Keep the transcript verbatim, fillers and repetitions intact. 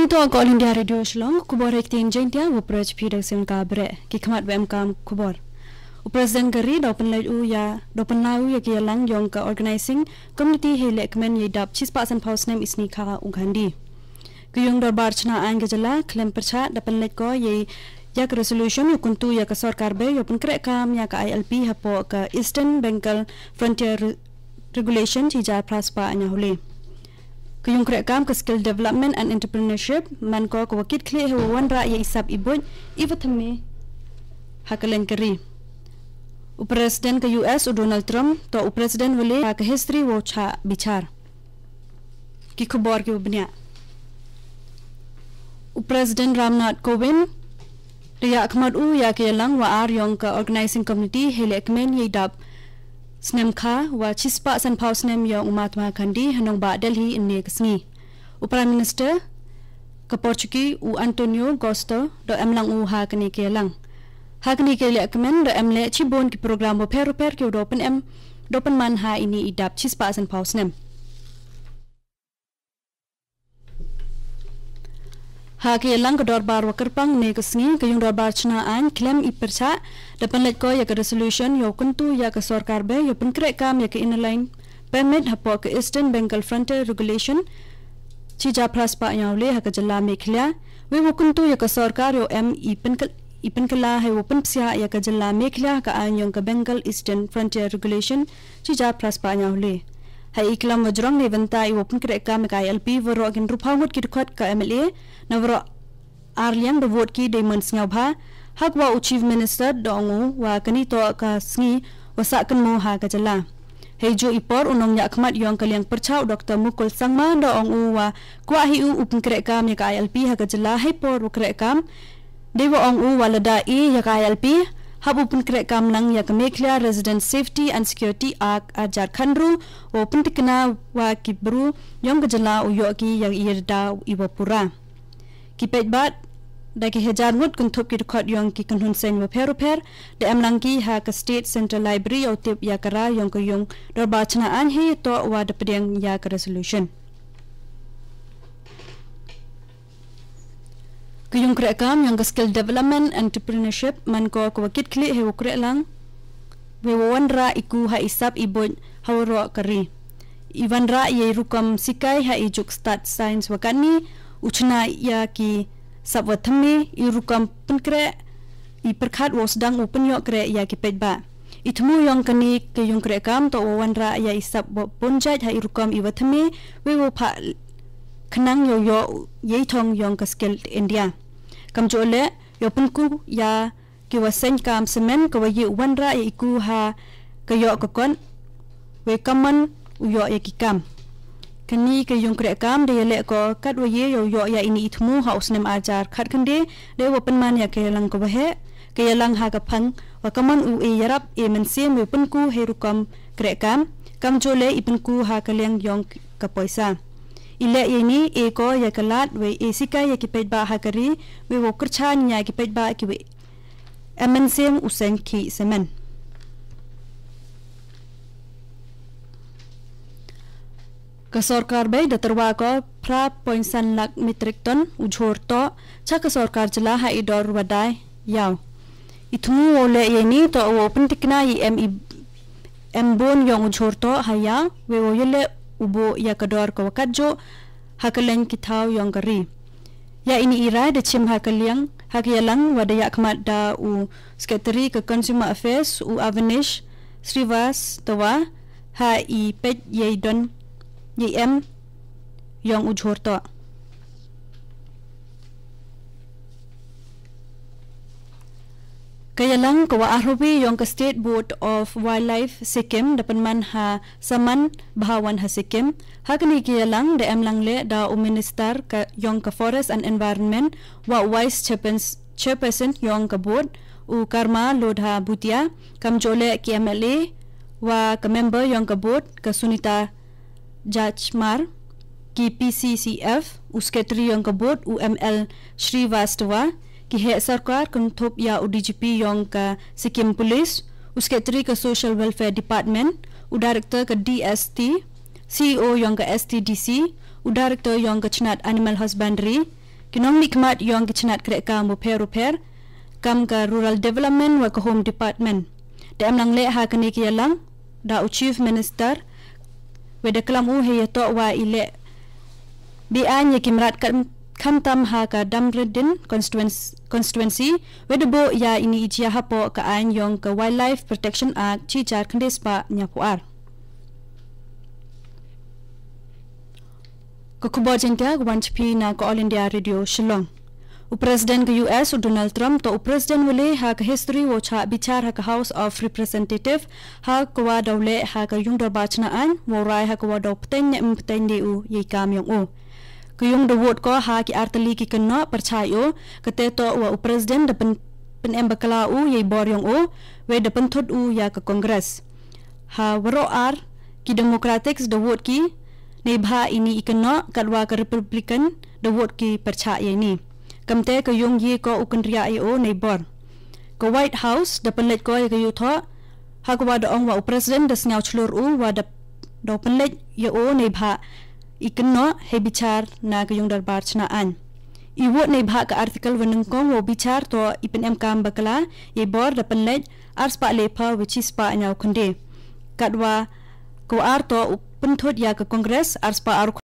To ka All India Radio Shillong, khubor ha ktien Jaiñtia, u Praj P Dawson ka bre, ki khmat wa em kam khubor. U President ka ri, da u pynlait u ya, da u pynlait u ya ki yalang yong ka organizing committee hei lehkmen yei dap chispah sanphaw snem i sni kha u Gandhi. Ka yung dorbar chna aiñ ka jylla, khlem pyrchah, da pynlait ko yei ya ka resolution, u kyntu ya ka sorkar bei, yow pynkreh kam ya ka I L P hapoh ka Eastern Bengal Frontier Re-, Regulation, chi hajar phra spah ñiaw le. Ka yung kreh kam ka Skill Development and Entrepreneurship, man ko ka wa kit khlieh hei wa wanrah ya i sap i buit, i wa thymme ha ka leng ka ri. U President ka U S u Donald Trump, to u President wa le ha ka history wow chah bichar. Ki khubor ki wa bniah. U President Ramnath Kovind, da yakhmat u ya ki yalang wa ar yong ka Organizing Committee hei lehkmen yei dap snem kha wa chispah sanphaw snem yong u Mahatma Gandhi ha nongbah Delhi ynne ka sngi. U Prime Minister ka Portuguese u Antonio Costa da em lang u ha kane ka yalang. Ha kane ka lehkmen da em leh chibun ki program wa pher wa pher ki wa da pynem, da pynman ha ini i dap chispah sanphaw snem. Ha ka yalang ka dorbar wa kyrpang ne ka sngi, ka yung dorbar chna aiñ khlem i pyrchah, da pynlait ko ya ka resolution, yow kyntu ya ka sorkar bei, yow pynkreh kam ya ka Inner Line Permit hapoh ka Eastern Bengal Frontier Regulation, chi hajar phra spah ñiaw le ha ka jylla Meghalaya, wei wow kyntu ya ka sorkar yow em i pynkyl-, i pynkylla hei wow pynpsiah ya ka jylla Meghalaya ha ka aiñ yong ka Bengal Eastern Frontier Regulation, chi hajar phra spah ñiaw le. Ha i klam wa jrong ne bynta i wow pynkreh kam ya ka I L P waroh kin rup haw ngut ki dkhot ka M L A, na waroh ar liang da vote ki dei man sngewbha, ha ka wa u Chief Minister da ong u wa kani to ka sngi wa sah kynmaw ha ka jylla. Hei ju i por u nongyakhmat yong ka liang pyrchah u Doctor Mukul Sangma da ong u wa kwah hi u u pynkreh kam ya ka I L P ha ka jylla hei por u kreh kam. Dei wa ong u wa lada i ya ka I L P, hap u pynkreh kam lang ya ka Meghalaya Resident Safety and Security Act ar hajar khatynru, wow pyntikna wa ki bru yong ka jylla u yoh ki ya i rda i wa pura. Ki paidbah, da ki hajar ngut kynthup ki dkhot yong ki kynhun seng wa pher wa pher, da em lang ki ha ka State Central Library yow tip ya ka ra yong ka yung dorbar chna aiñ hei to wa da pdiang ya ka resolution. Ka yung kreh kam yong ka Skill Development Entrepreneurship, man ko ka wa kit khlieh hei wow kreh lang, wei wow wanrah i ku ha i sap i buit ha waroh ka ri. I wanrah yei rukom sikai ha i juk stad science wa katni, u chna ya ki sap wa thymme, i rukom pynkreh, i pyrkhat wow sdang u pynyoh kreh ya ki paidbah. I thmu yong kani ka yung kreh kam to wow wanrah ya i sap wa pynjait ha i rukom i wa thymme, wei wow phah khnang yow yoh yei thong yong ka Skill India. Kamjooh le, yow pynku ya ki wa seng kam semen ka wa yei wanrah ya i ku ha ka yoh ka kot, wei kammon u yoh ya ki kam. Kani ka yung kreh kam da ya leh ko kat wa yei yow yoh ya ini i thmu ha u snem ar hajar khatkhynde, da wa pynman ya ka yalang ka wa heh, ka yalang ha ka phang, wa kammon u e yarap e mynsiem wei pynku hei rukom kreh kam, kamjooh le i pynku ha ka liang yong ka poisa. I leh ya ini e ko ya ka lad wei e sikai ya ki paidbah ha ka ri, wei wow kyrchan ya ki paidbah ki wei em mynsiem u seng khih semen. Ka sorkar bei da tyrwa ko phra point san lak metric ton u jhur toh cha ka sorkar jylla ha i dor wa dai yaw. I thmu wow leh ya ini toh wow pyntikna i em i em bun yong u jhur toh ha yaw, wei wow ya leh u buh ya ka dor ka wa kat jooh ha ka leng ki thaw yong ka ri. Ya ini i rai da chim ha ka liang, ha ka yalang wa da yakhmat da u Secretary ka Consumer Affairs, u Avnish Srivastava, ha i peit yei don, yei em yong u jhur toh. Ka yalang ka wa arhawi yong ka State Board of Wildlife Sikkim da pynman ha Saman Bhawan ha Sikkim. Ha kani ka yalang da em lang le da u Minister ka yong ka Forest and Environment wa u Vice Chairpers-, Chairperson yong ka Board, u Karma Lodha Bhutia, kamjooh le ki M L A wa ka member yong ka Board, ka Sunita Jajmar, ki P C C F, u Secretary yong ka Board, u M L Srivastava, ki heh sorkar kynthup ya u D G P yong ka Sikkim Police, u Secretary ka Social Welfare Department, u Director ka D S T, C E O yong ka S T D C, u Director yong ka Chnat Animal Husbandry, Ki nongmihkhmat yong ki chnat krehkaam bapher bapher kam ka Rural Development wa ka Home Department da em lang leh ha kane ka yalang da u Chief Minister, wei da klam u hei yatoh wa i leh be-aiñ ya ki mrad khamtam ha ka Dumbarton constituency, wei da buh ya ini i jia hapoh ka aiñ yong ka Wildlife Protection Act shi hajar khyndai spah hynñiewphew ar. Ka khubor Jaiñtia ka wan sha phi na ka All India Radio Shillong. U President ka U S u Donald Trump toh u President wa le ha ka history wow chah bichar ha ka House of Representative ha ka wa daw leh ha ka yung dorbar chna aiñ wow rai ha ka wa daw pteng ne ym pteng de u yei kam yong u. Ka yung da vote ko ha ki artylli ki kynnoh pyrchah u, kate toh wa u President da pyn, pynem bakla u yei bor yong u, wei da pynthut u ya ka Congress. Ha waroh ar ki Democrats da vote ki neibhah ini i kynnoh, katwa ka Republican da vote ki pyrchah ya ini. Kamte ka yung ye ko u kynriah ya u nei bor. Ka White House da pynleit ko ya ka yuthoh ha ka wa da ong wa u President da sñiaw chlur u wa da, da pynleit ya u neibhah i kynnoh hei bichar na ka yung dorbar chna aiñ. I vote neibhah ka article wa nyngkong wow bichar toh i pynem kam bakla yei bor da pynleit ar spah lephew wei chi spah hynñiew khynde. Katwa ka wa ar toh u pynthut ya ka Congress ar spah ar